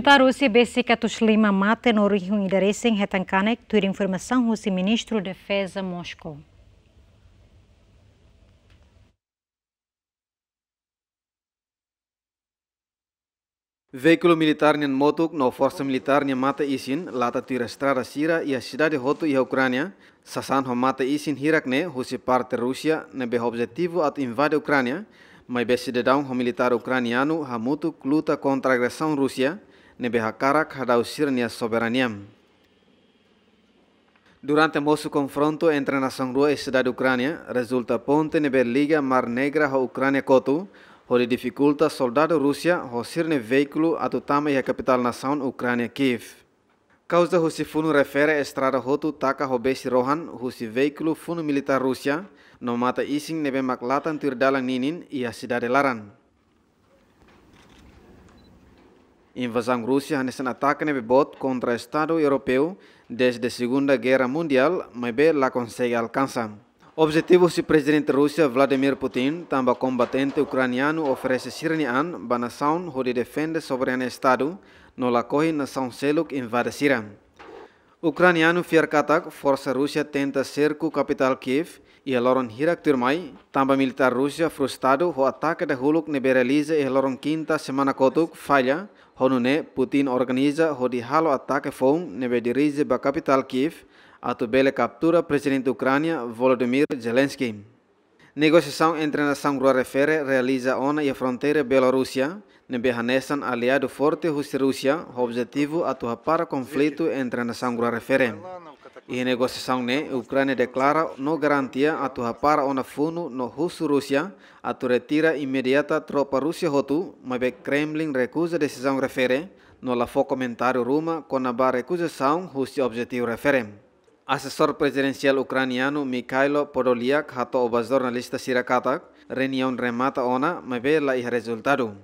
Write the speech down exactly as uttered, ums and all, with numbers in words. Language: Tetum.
Militár Rúsia besik atus lima mate no rihun ida resin hetan kanek, tuir informasaun husi Ministru Defeza Moskou. Veíkulu militár nian motuk no forsa militár nia mate-isin lata tuir estrada sira iha sidade hotu iha Ukránia, sasán ho mate-isin hirak ne'e husi parte Rúsia ne'ebé ho objetivu atu invade Ukránia, maibé sidadaun ho militár ukranianu hamutuk luta kontra agresaun Rúsia ne'ebé hakarak hadau sira-nia soberania. Durante mosu konfrontu entre nasaun rua iha sidade Ukránia, rezulta ponte ne'ebé liga Mar Negra ho Ukránia kotu, hodi difikulta soldadu Rúsia ho sira-nia veíkulu atu tama iha kapitál nasaun Ukránia, Kiev. Kauza husi funu refere estrada hotu taka ho besi rohan husi veíkulu funu militár Rúsia, no mate-isin ne'ebé mak latan tuir dalan ninin iha sidade laran. Invazaun Rúsia hanesan atake ne'ebé boot kontra Estadu Europeu dezde Segunda Gerra Mundiál, maibé la konsege alkansa. Objetivu husi Prezidente Rúsia Vladimir Putin tanba kombatente ukranianu oferese sira-nia an ba nasaun hodi defende soberania Estadu, no lakohi nasaun seluk invade sira. Ukranianu fiar katak forsa Rúsia tenta serku kapitál Kiev iha loron hirak tuirmai, tanba militár Rúsia frustradu ho atake dahuluk ne'ebé realiza iha loron Kinta semana kotuk falla, ho nune'e Putin organiza hodi halo atake foun ne'ebé dirije ba kapitál Kiev, atu bele kaptura Prezidente Ukránia Volodymyr Zelensky. Negosiasaun entre nasaun rua refere realiza ona iha fronteira Bielorúsia, ne'ebé hanesan aliadu forte husi Rúsia, ho objetivu atu hapara konflitu entre nasaun rua refere. Iha negosiasaun ne'e, Ukránia deklara no garantia atu hapara ona funu no husu Rúsia atu retira imediata tropa Rúsia hotu, maibé Kremlin rekuza desizaun refere, no la fó komentáriu ruma kona-ba rekuzasaun husi objetivu refere. Asesór prezidensiál ukranianu Mikhailo Podolyak hato'o ba jornalista sira katak, reuniaun remata ona, maibé la iha rezultadu.